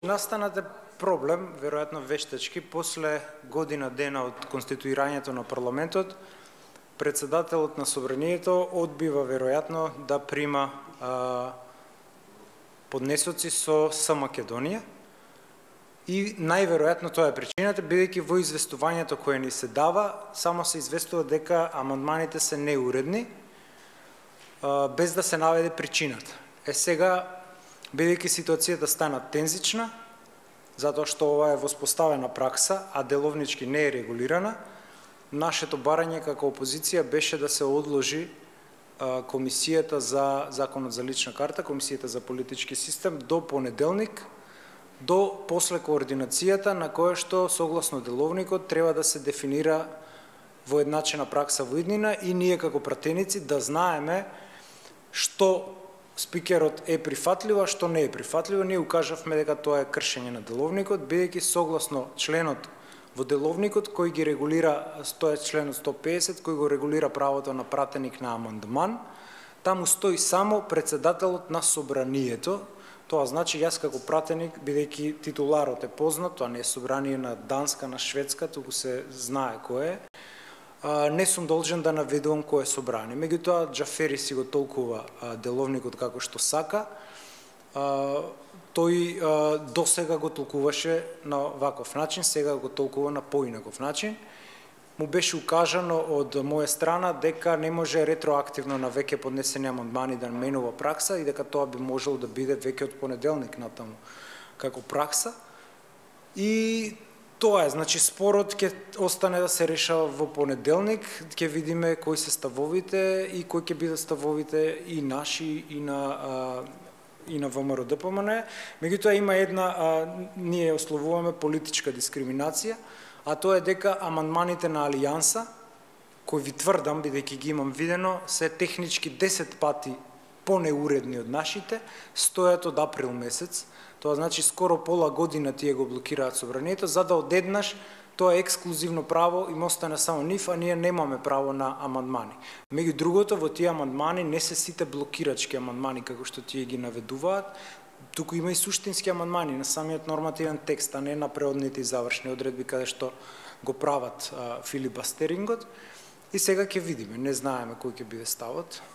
Настанат проблем, веројатно вештачки, после година дена од конституирањето на парламентот, председателот на собранието одбива веројатно да прима поднесоци со Македонија и најверојатно тоа е причината, бидејќи во известувањето кое ни се дава, само се известува дека амандманите се неуредни, без да се наведе причината. Сега, бидејќи ситуацијата стана тензична, затоа што ова е воспоставена пракса, а деловнички не е регулирана, нашето барање како опозиција беше да се одложи Комисијата за Законот за лична карта, Комисијата за политички систем до понеделник, до после координацијата на која што согласно деловникот треба да се дефинира воедначена пракса во иднина и ние како пратеници да знаеме што спикерот е прифатливо, а што не е прифатливо. Ние укажавме дека тоа е кршење на деловникот, бидејќи согласно членот во деловникот кој ги регулира, тоа е членот 150, кој го регулира правото на пратеник на амандман, таму стои само председателот на собранието. Тоа значи јас како пратеник, бидејќи титуларот е познат, тоа не е собрание на Данска, на Шведска, туку се знае кој е, не сум должен да наведувам кој е собрание. Меѓутоа, Џафери си го толкува деловникот како што сака. Тој досега го толкуваше на ваков начин, сега го толкува на поинаков начин. Му беше укажано од моја страна дека не може ретроактивно на веќе поднесени амандмани да менува пракса и дека тоа би можело да биде веќе од понеделник натаму како пракса. И тоа е, значи спорот ќе остане да се решава во понеделник, ќе видиме кои се ставовите и кои ќе бидат ставовите и наши и на ВМРО-ДПМН. Меѓутоа има една, ние ословуваме политичка дискриминација, а тоа е дека амандманите на Алијанса, кои ви тврдам, бидејќи ги имам видено, се технички 10 пати понеуредни од нашите, стојат од април месец. Тоа значи скоро пола година тие го блокираат собранието, за да одеднаш тоа е ексклузивно право им остане само нив, а ние немаме право на амандмани. Меѓу другото, во тие амандмани не се сите блокирачки амандмани, како што тие ги наведуваат, туку има и суштински амандмани на самиот нормативен текст, а не на преодните и завршни одредби, каде што го прават филибастерингот. И сега ќе видиме, не знаеме кој ќе биде ставот.